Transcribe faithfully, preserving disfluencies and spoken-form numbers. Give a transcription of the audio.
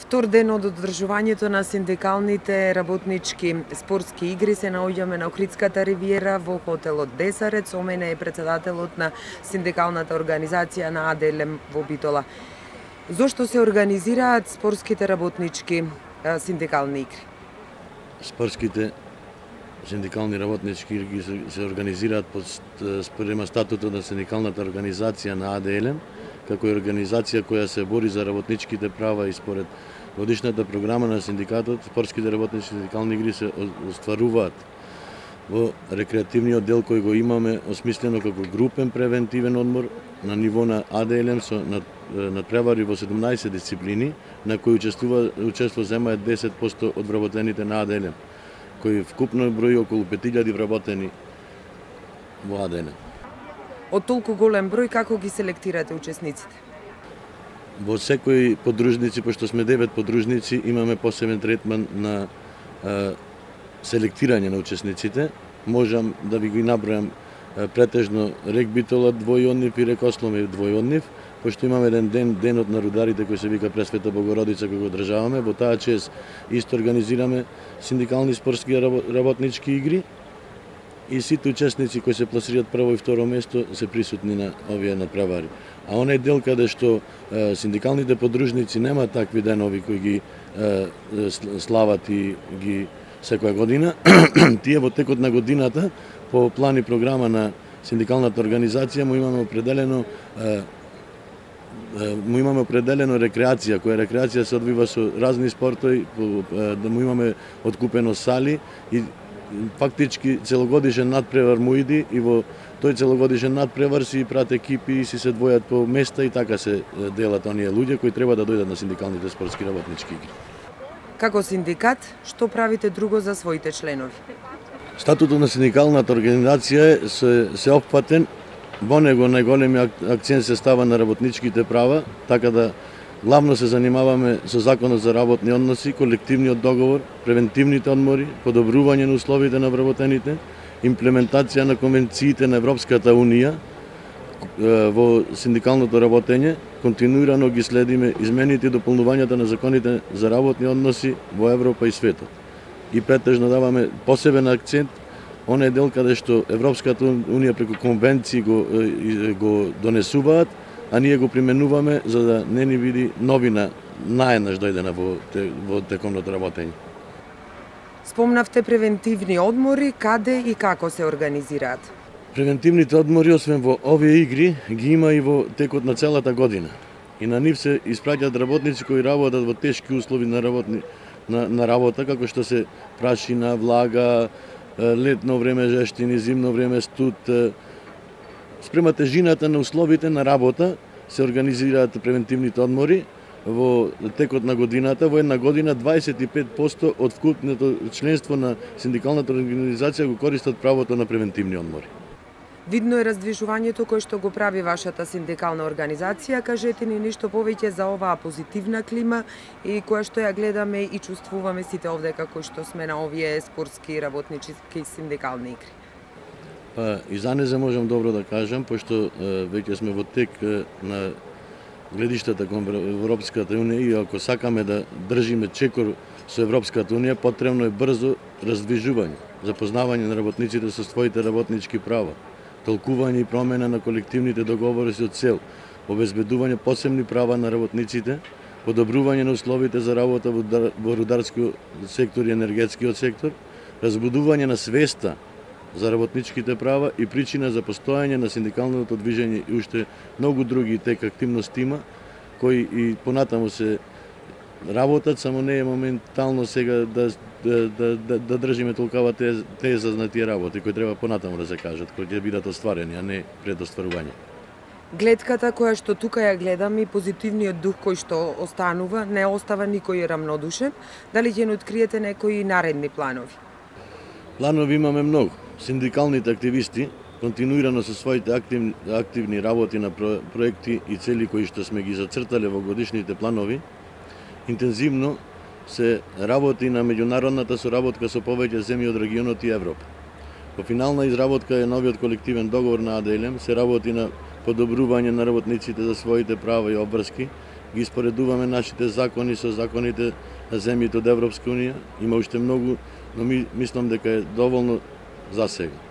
Втор ден од одржувањето на синдикалните работнички спортски игри се наоѓаме на Охридската ривиера во хотелот Десарет. Со мене е председателот на синдикалната организација на АДЛМ во Битола. Зошто се организираат спортските работнички синдикални игри? Спортските синдикални работнички игри се, се организираат според статутот на синдикалната организација на АДЛМ, како е организација која се бори за работничките права и според годишната програма на синдикатот, спортските работнички синдикални игри се остваруваат во рекреативниот дел кој го имаме осмислено како групен превентивен одмор на ниво на АДЛМ со надпревари во седумнаесет дисциплини, на кои учествува учество земаат десет проценти од вработените на АДЛМ, кои вкупно брои околу пет илјади вработени во АДЛМ. Од толку голем број, како ги селектирате учесниците? Во секој подружници, пошто сме девет подружници, имаме посебен третман на а, селектирање на учесниците. Можам да ви ги набројам а, претежно Рек Битола двојоднев и Рек Ослом е двојоднев, пошто имаме еден ден, денот на рударите кој се вика Пресвета Богородица, кој го одржаваме. Во таа чест исто организираме синдикални спортски работнички игри. И сите учесници кои се пласираат прво и второ место се присутни на овие надпревари. А онај дел каде што е, синдикалните подружници нема такви денови кои ги е, слават и ги секоја година, тие во текот на годината по план и програма на синдикалната организација му имаме определено е, му имаме определено рекреација, која рекреација се одвива со разни спортови, да му имаме откупено сали и фактички целогодишен надпревар му иди и во тој целогодишен надпревар си прат екипи и си се двојат по места и така се делат оние луѓе кои треба да дојдат на синдикалните спортски работнички игри. Како синдикат, што правите друго за своите членови? Статутот на синдикалната организација е се, се опфатен, во него најголемиот акцент се става на работничките права, така да главно се занимаваме со законот за работни односи, колективниот договор, превентивните одмори, подобрување на условите на вработените, имплементација на конвенциите на Европската Унија во синдикалното работење, континуирано ги следиме измените и дополнувањата на законите за работни односи во Европа и светот. И претежно даваме посебен акцент оној дел каде што Европската Унија преку конвенции го, го донесуваат, а ние го применуваме за да не ни види новина наеднаш дојдена во, во текомното работење. Спомнавте превентивни одмори, каде и како се организираат? Превентивните одмори, освен во овие игри, ги има и во текот на целата година. И на нив се испраќаат работници кои работат во тешки услови на, работни, на, на работа, како што се прашина, влага, летно време жештини, зимно време студ. Спрема тежината на условите на работа се организираат превентивните одмори во текот на годината. Во една година дваесет и пет проценти од вкупното членство на синдикалната организација го користат правото на превентивни одмори. Видно е раздвижувањето кое што го прави вашата синдикална организација. Кажете ни нешто повеќе за оваа позитивна клима и која што ја гледаме и чувствуваме сите овде како што сме на овие спортски работнички синдикални игри. Па, и за незе можам добро да кажам, пошто е, веќе сме во тек е, на гледиштата кон Европската Унија и ако сакаме да држиме чекор со Европската Унија, потребно е брзо раздвижување, запознавање на работниците со своите работнички права, толкување и промена на колективните договори со цел обезбедување посебни права на работниците, подобрување на условите за работа во рударскиот сектор и енергетскиот сектор, разбудување на свеста за работничките права и причина за постојање на синдикалното движење и уште многу други тек активности има, кои и понатаму се работат, само не е моментално сега да, да, да, да, да држиме толкова теза на тие работи, кои треба понатаму да се кажат, кои ќе бидат остварени, а не пред остварување. Гледката која што тука ја гледам и позитивниот дух кој што останува, не остава никој рамнодушен, дали ќе не откриете некои наредни планови? Планови имаме многу. Синдикалните активисти континуирано со своите активни, активни работи на проекти и цели кои што сме ги зацртале во годишните планови, интензивно се работи на меѓународната соработка со повеќе земји од регионот и Европа. Во финална изработка е новиот колективен договор на АДЛМ, се работи на подобрување на работниците за своите права и обврски ги споредуваме нашите закони со законите на земјите од Европска унија. Има уште многу, но ми мислам дека е доволно за сега.